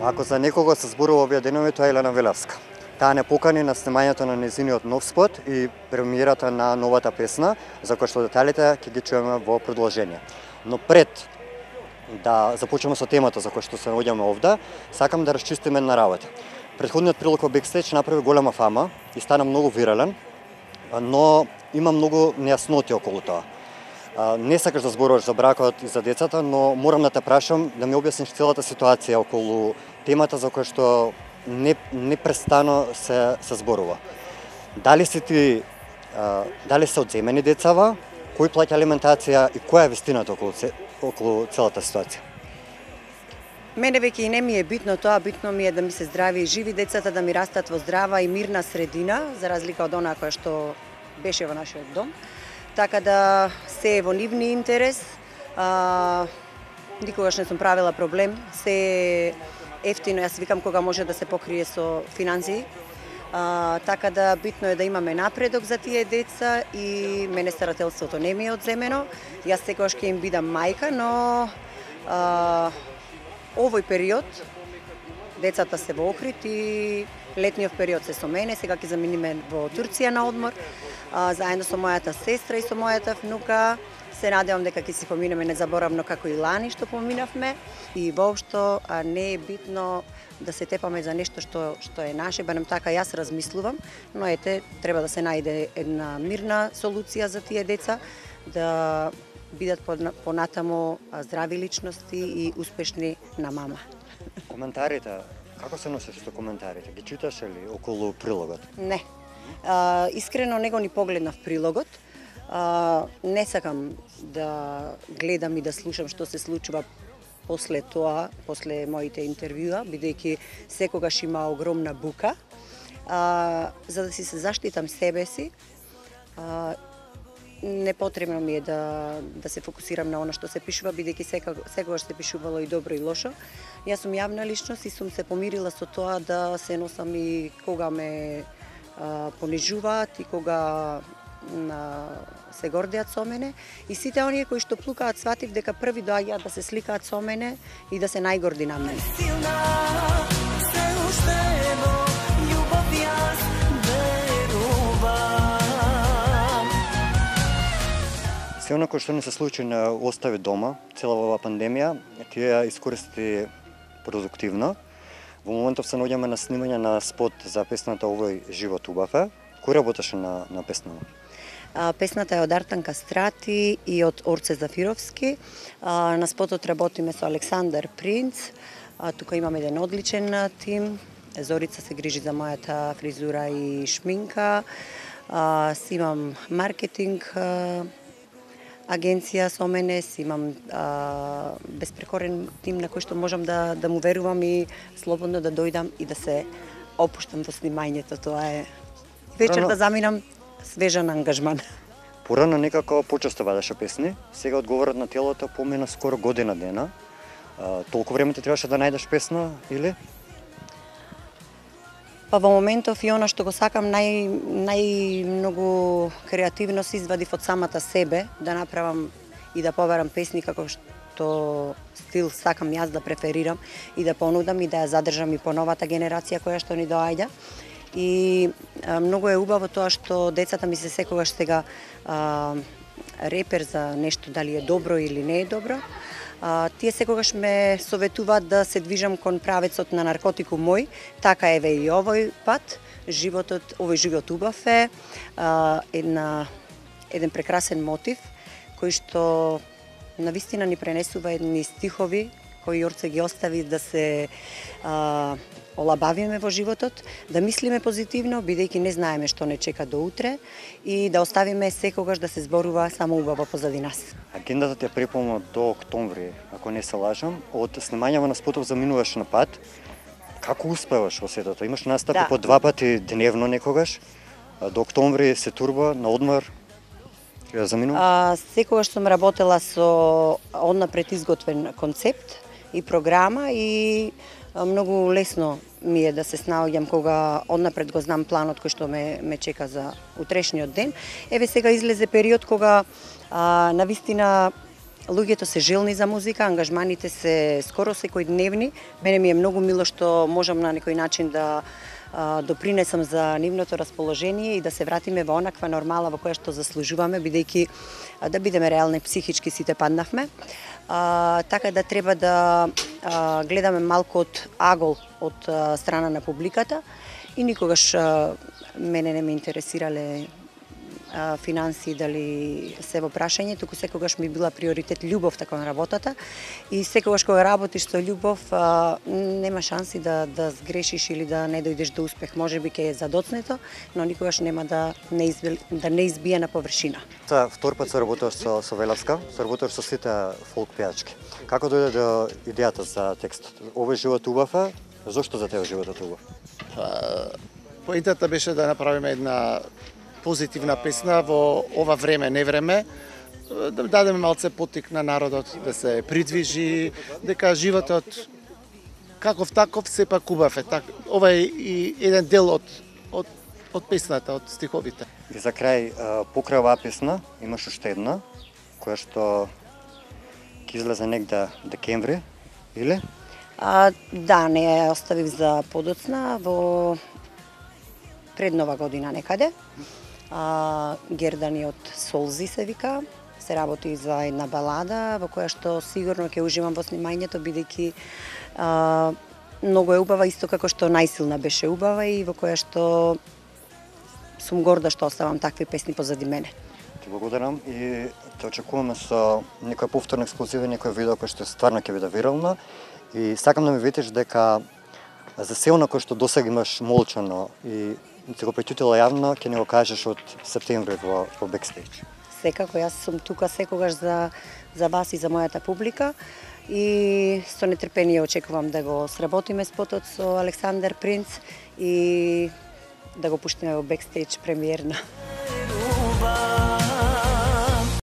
Ако за некого се зборува овие денови, тоа е Елена Велевска. Таа не покани на снимањето на нејзиниот нов спот и премиерата на новата песна, за која што деталите ќе ги чуеме во продолжение. Но пред да започнеме со темата за која што се наоѓаме овде, сакам да расчистиме една работа. Претходниот прилог во Бекстејдж направи голема фама и стана многу вирален, но има многу нејасноти околу тоа. Не сакаш да зборуваш за бракот и за децата, но морам да те прашам да ми објасниш целата ситуација околу темата за која што непрестано се зборува. Дали се одземени децава, кој плаќа алиментација и која е вистината околу целата ситуација? Мене веќе и не ми е битно тоа, битно ми е да ми се здрави и живи децата, да ми растат во здрава и мирна средина, за разлика од онаа која што беше во нашиот дом. Така да се е во нивни интерес, никогаш не сум правила проблем, се е ефтино, јас викам кога може да се покрие со финансии, така да битно е да имаме напредок за тие деца и мене старателството не ми е одземено, јас секогаш ќе им бидам мајка, но овој период децата се во Охрид и летниот период се со мене, сега ќе заминиме во Турција на одмор, заедно со мојата сестра и со мојата внука. Се надевам дека ќе си поминеме незаборавно како и лани што поминавме и воопшто не е битно да се тепаме за нешто што е наше, барем така јас размислувам, но ете треба да се најде една мирна солуција за тие деца, да бидат понатамо здрави личности и успешни на мама. Коментарите, како се носиш со коментарите? Ги читаш ли околу прилогот? Не. Искрено не го ни погледнав прилогот. Не сакам да гледам и да слушам што се случува после тоа, после моите интервјуа, бидејќи секогаш има огромна бука. За да си се заштитам себе си, непотребно ми е да се фокусирам на она што се пишува, бидејќи секогаш се пишувало и добро и лошо. Јас сум јавна личност и сум се помирила со тоа да се носам и кога ме понижуваат и кога се гордеат со мене и сите оние кои што плукаат сватив дека први доаѓаат да се сликаат со мене и да се најгорди на мене. Се оно кој што не се случи не остави дома, цела оваа пандемија, ти ја искористи продуктивно. Во моментов се наоѓаме на снимање на спот за песната Овој живот убав е. Кој работеше на песнава? Песната е од Артан Кастрати и од Орце Зафировски. На спотот работиме со Александар Принц. Тука имаме еден одличен тим. Зорица се грижи за мојата фризура и шминка. Си имам маркетинг агенција со мене, си имам безпрекорен тим на кој што можам да му верувам и слободно да дојдам и да се опуштам во снимањето. Тоа е вечер да заминам свежан ангажман. Порано некако почесто вадеше песни, сега одговорот на телото помина скоро година дена. Толку време ти требаше да најдеш песна или? Па во моментов и она што го сакам најмногу креативност извадив од самата себе, да направам и да побарам песни како што стил сакам јас да преферирам и да понудам и да ја задржам и по новата генерација која што ни доаѓа. И многу е убаво тоа што децата ми се секогаш сега репер за нешто дали е добро или не е добро. Тие секогаш ме советуваат да се движам кон правецот на наркотикум мој, така еве и овој пат. Овој живот убав е еден прекрасен мотив кој што навистина ни пренесува едни стихови кои Орце ги остави да се олабавиме во животот, да мислиме позитивно, бидејќи не знаеме што не чека до утре и да оставиме секогаш да се зборува само убаво позади нас. Агендата ти е препълна до октомври, ако не се лажам, од снимањето на спотов заминуваш на пат. Како успеваш во сетото? Имаш настапи по 2 пати дневно некогаш, до октомври се турба на одмор. Секогаш сум работела со однапред изготвен концепт и програма и многу лесно ми е да се снаоѓам кога однапред го знам планот кој што ме чека за утрешниот ден. Еве сега излезе период кога навистина луѓето се желни за музика, ангажманите се скоро секојдневни. Мене ми е многу мило што можам на некој начин да допринесам за нивното расположение и да се вратиме во онаква нормала во која што заслужуваме, бидејќи да бидеме реални, психички сите паднавме. Така да треба да гледаме малку од агол од страна на публиката и никогаш мене не ме интересирале финансии дали се во прашање, туку секогаш ми била приоритет љубовта кон работата и секогаш кога работиш со љубов нема шанси да сгрешиш или да не дојдеш до успех. Можеби ќе е задоцнето, но никогаш нема да не избие на површина. Втор пат се работуваш со Велевска, се работуваш со сите фолк пејачки. Како дојде до идејата за текстот? Овој живот убав е, зошто за тебе животот убав? Поентата беше да направиме една позитивна песна во ова време, не време, да дадеме малце поттик на народот да се придвижи, дека животот каков таков сепак убав е. Ова е и еден дел од песната, од стиховите. И за крај, покрај оваа песна, имаш уште една, која што ќе излезе негде декември, или? Да, не ја оставив за подоцна, во пред нова година некаде. Гердани од Солзи се вика, се работи за една балада во која што сигурно ќе уживам во снимањето, бидејќи многу е убава, исто како што Најсилна беше убава и во која што сум горда што оставам такви песни позади мене. Ти благодарам и те очекуваме со некој повторно ексклузивен, некој видео кој што стварно ќе биде вирално и сакам да ми видиш дека за се оно кој што досега имаш молчано и ти го претютила јавно, ќе не го кажеш од септември во бекстејдж. Секако, јас сум тука секогаш за вас и за мојата публика и со нетрпение очекувам да го сработиме спотот со Александар Принц и да го пуштиме во бекстејдж премиерно.